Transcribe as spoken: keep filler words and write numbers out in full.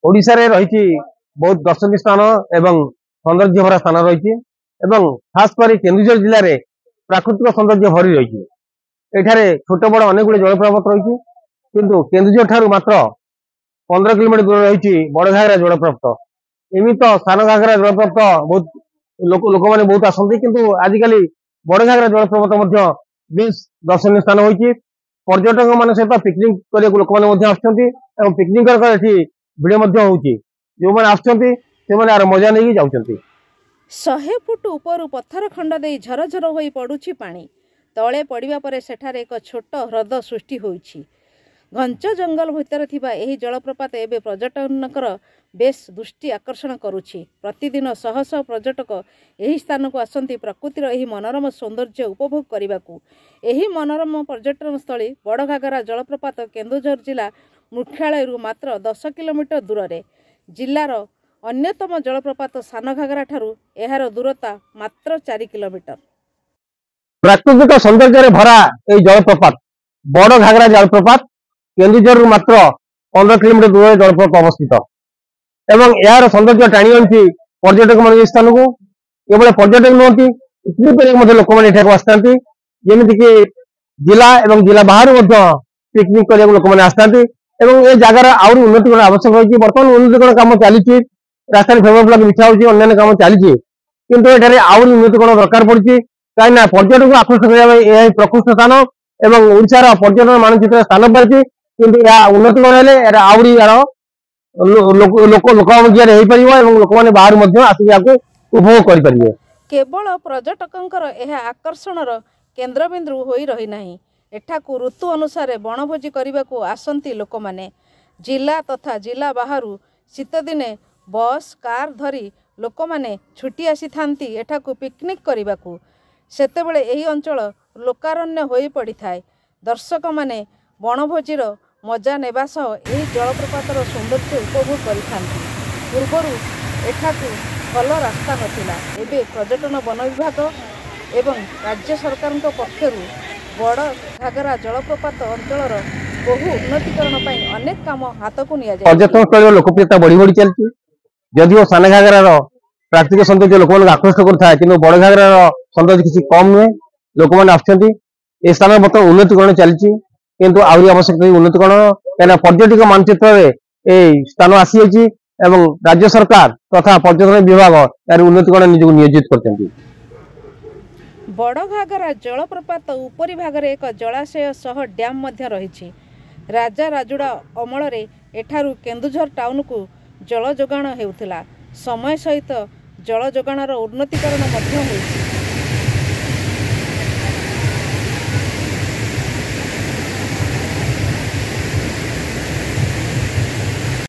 ଓଡ଼ିଶାରେ ରହିଛି ବହୁତ ଦର୍ଶନୀୟ ସ୍ଥାନ ଏବଂ ସୌନ୍ଦର୍ଯ୍ୟ ଭରା ସ୍ଥାନ ରହିଛି ଏବଂ ଖାସ କରି କେନ୍ଦୁଝର ଜିଲ୍ଲାରେ ପ୍ରାକୃତିକ ସୌନ୍ଦର୍ଯ୍ୟ ଭରି ରହିଛି। ଏଠାରେ ଛୋଟ ବଡ଼ ଅନେକ ଗୁଡ଼ିଏ ଜଳପ୍ରପାତ ରହିଛି, କିନ୍ତୁ କେନ୍ଦୁଝର ଠାରୁ ମାତ୍ର ପନ୍ଦର କିଲୋମିଟର ଦୂରରେ ରହିଛି ବଡ଼ ଘାଗରା ଜଳପ୍ରପାତ। ଏମିତି ତ ସାନ ଘାଗରା ଜଳପ୍ରପାତ ବହୁତ ଲୋକ ଲୋକମାନେ ବହୁତ ଆସନ୍ତି, କିନ୍ତୁ ଆଜିକାଲି ବଡ଼ ଘାଗରା ଜଳପ୍ରପାତ ମଧ୍ୟ ବେଶ ଦର୍ଶନୀୟ ସ୍ଥାନ ହୋଇଛି। ପର୍ଯ୍ୟଟକ ମାନଙ୍କ ସହିତ ପିକନିକ କରିବାକୁ ଲୋକମାନେ ମଧ୍ୟ ଆସୁଛନ୍ତି ଏବଂ ପିକନିକ ଏଠି ଭିଡ଼ ମଧ୍ୟ ହଉଛି। ଯେଉଁମାନେ ଆସୁଛନ୍ତି, ସେମାନେ ଆର ମଜା ନେଇକି ଯାଉଛନ୍ତି। ଶହେ ଫୁଟ ଉପରୁ ପଥର ଖଣ୍ଡ ଦେଇ ଝରଝର ହୋଇ ପଡୁଛି ପାଣି। ତଳେ ପଡ଼ିବା ପରେ ସେଠାରେ ଏକ ଛୋଟ ହ୍ରଦ ସୃଷ୍ଟି ହୋଇଛି। ଘଞ୍ଚ ଜଙ୍ଗଲ ଭିତରେ ଥିବା ଏହି ଜଳପ୍ରପାତ ଏବେ ପର୍ଯ୍ୟଟକଙ୍କର ବେଶ୍ ଦୃଷ୍ଟି ଆକର୍ଷଣ କରୁଛି। ପ୍ରତିଦିନ ଶହ ଶହ ପର୍ଯ୍ୟଟକ ଏହି ସ୍ଥାନକୁ ଆସନ୍ତି ପ୍ରକୃତିର ଏହି ମନୋରମ ସୌନ୍ଦର୍ଯ୍ୟ ଉପଭୋଗ କରିବାକୁ। ଏହି ମନୋରମ ପର୍ଯ୍ୟଟନସ୍ଥଳୀ ବଡ଼ଘାଗରା ଜଳପ୍ରପାତ କେନ୍ଦୁଝର ଜିଲ୍ଲା ମୁଖ୍ୟାଳୟରୁ ମାତ୍ର ଦଶ କିଲୋମିଟର ଦୂରରେ। ଜିଲ୍ଲାର ଅନ୍ୟତମ ଜଳପ୍ରପାତ ସାନଘାଗରା ଠାରୁ ଏହାର ଦୂରତା ମାତ୍ର ଚାରି କିଲୋମିଟର। ପ୍ରାକୃତିକ ସୌନ୍ଦର୍ଯ୍ୟରେ ଭରା ଏଇ ଜଳପ୍ରପାତ ବଡ଼ ଘାଗରା ଜଳପ୍ରପାତ କେନ୍ଦୁଝରରୁ ମାତ୍ର ପନ୍ଦର କିଲୋମିଟର ଦୂରରେ ଜଳପ୍ରପାତ ଅବସ୍ଥିତ ଏବଂ ଏହାର ସୌନ୍ଦର୍ଯ୍ୟ ଟାଣି ଆଣୁଛି ପର୍ଯ୍ୟଟକ ମାନେ ଏହି ସ୍ଥାନକୁ। କେବଳ ପର୍ଯ୍ୟଟକ ନୁହନ୍ତି, ପିକନିକ କରିବାକୁ ମଧ୍ୟ ଲୋକମାନେ ଏଠାକୁ ଆସିଥାନ୍ତି। ଯେମିତିକି ଜିଲ୍ଲା ଏବଂ ଜିଲ୍ଲା ବାହାରୁ ମଧ୍ୟ ପିକନିକ କରିବାକୁ ଲୋକମାନେ ଆସିଥାନ୍ତି ଏବଂ ଏ ଜାଗାର ଆହୁରି ଉନ୍ନତିକରଣ ଆବଶ୍ୟକ ରହିଛି। ବର୍ତ୍ତମାନ ଉନ୍ନତିକରଣ କାମ ଚାଲିଛି, ରାସ୍ତାରେ ଫେଭର ବ୍ଲକ ବିଛା ହଉଛି, ଅନ୍ୟାନ୍ୟ କାମ ଚାଲିଛି, କିନ୍ତୁ ଏଠାରେ ଆହୁରି ଉନ୍ନତିକରଣ ଦରକାର ପଡୁଛି, କାହିଁକିନା ପର୍ଯ୍ୟଟକକୁ ଆକୃଷ୍ଟ କରିବା ପାଇଁ ଏହା ହିଁ ପ୍ରକୃଷ୍ଟ ସ୍ଥାନ ଏବଂ ଓଡ଼ିଶାର ପର୍ଯ୍ୟଟନ ମାନଚିତ୍ରରେ ସ୍ଥାନ ପାଇଛି। କିନ୍ତୁ ଏହା ଉନ୍ନତିକରଣ ହେଲେ ଏହାର ଆହୁରି ଏହାର ଲୋକ ଲୋକ ଲୋକମୁଖିଆରେ ହେଇପାରିବ ଏବଂ ଲୋକମାନେ ବାହାରୁ ମଧ୍ୟ ଆସିକି ଏହାକୁ ଉପଭୋଗ କରିପାରିବେ। କେବଳ ପର୍ଯ୍ୟଟକଙ୍କର ଏହା ଆକର୍ଷଣର କେନ୍ଦ୍ରବିନ୍ଦୁ ହୋଇ ରହିନାହିଁ, ଏଠାକୁ ଋତୁ ଅନୁସାରେ ବଣଭୋଜି କରିବାକୁ ଆସନ୍ତି ଲୋକମାନେ ଜିଲ୍ଲା ତଥା ଜିଲ୍ଲା ବାହାରୁ। ଶୀତଦିନେ ବସ୍, କାର୍ ଧରି ଲୋକମାନେ ଛୁଟି ଆସିଥାନ୍ତି ଏଠାକୁ ପିକନିକ୍ କରିବାକୁ। ସେତେବେଳେ ଏହି ଅଞ୍ଚଳ ଲୋକାରଣ୍ୟ ହୋଇପଡ଼ିଥାଏ। ଦର୍ଶକମାନେ ବଣଭୋଜିର ମଜା ନେବା ସହ ଏହି ଜଳପ୍ରପାତର ସୌନ୍ଦର୍ଯ୍ୟ ଉପଭୋଗ କରିଥାନ୍ତି। ପୂର୍ବରୁ ଏଠାକୁ ଭଲ ରାସ୍ତା ନଥିଲା। ଏବେ ପର୍ଯ୍ୟଟନ, ବନ ବିଭାଗ ଏବଂ ରାଜ୍ୟ ସରକାରଙ୍କ ପକ୍ଷରୁ ବଡ଼ ଘାଗରା ଜଳପ୍ରପାତ ଅଞ୍ଚଳର ବହୁ ଉନ୍ନତିକରଣ ପାଇଁ ଅନେକ କାମ ହାତକୁ ନିଆଯାଇଛି। ପର୍ଯ୍ୟଟନ ସ୍ଥଳୀର ଲୋକପ୍ରିୟତା ବଢି ବଢି ଚାଲିଛି। ଯଦିଓ ସାନ ଘାଗରାର ପ୍ରାକୃତିକ ସୌନ୍ଦର୍ଯ୍ୟ ଲୋକମାନଙ୍କୁ ଆକୃଷ୍ଟ କରୁଥାଏ, କିନ୍ତୁ ବଡ଼ ଘାଗରାର ସୌନ୍ଦର୍ଯ୍ୟ କିଛି କମ ନୁହେଁ। ଲୋକମାନେ ଆସୁଛନ୍ତି। ଏ ସ୍ଥାନରେ ବର୍ତ୍ତମାନ ଉନ୍ନତିକରଣ ଚାଲିଛି, କିନ୍ତୁ ଆହୁରି ଆବଶ୍ୟକତା ଉନ୍ନତିକରଣ, କାହିଁକିନା ପର୍ଯ୍ୟଟକ ମାନଚିତ୍ରରେ ଏଇ ସ୍ଥାନ ଆସିଯାଇଛି ଏବଂ ରାଜ୍ୟ ସରକାର ତଥା ପର୍ଯ୍ୟଟନ ବିଭାଗ ଏହାର ଉନ୍ନତିକରଣ ନିଜକୁ ନିୟୋଜିତ କରିଛନ୍ତି। ବଡ଼ ଘାଗରା ଜଳପ୍ରପାତ ଉପରି ଭାଗରେ ଏକ ଜଳାଶୟ ସହ ଡ୍ୟାମ୍ ମଧ୍ୟ ରହିଛି। ରାଜା ରାଜୁଡ଼ା ଅମଳରେ ଏଠାରୁ କେନ୍ଦୁଝର ଟାଉନକୁ ଜଳ ଯୋଗାଣ ହେଉଥିଲା। ସମୟ ସହିତ ଜଳ ଯୋଗାଣର ଉନ୍ନତିକରଣ ମଧ୍ୟ ହୋଇଛି।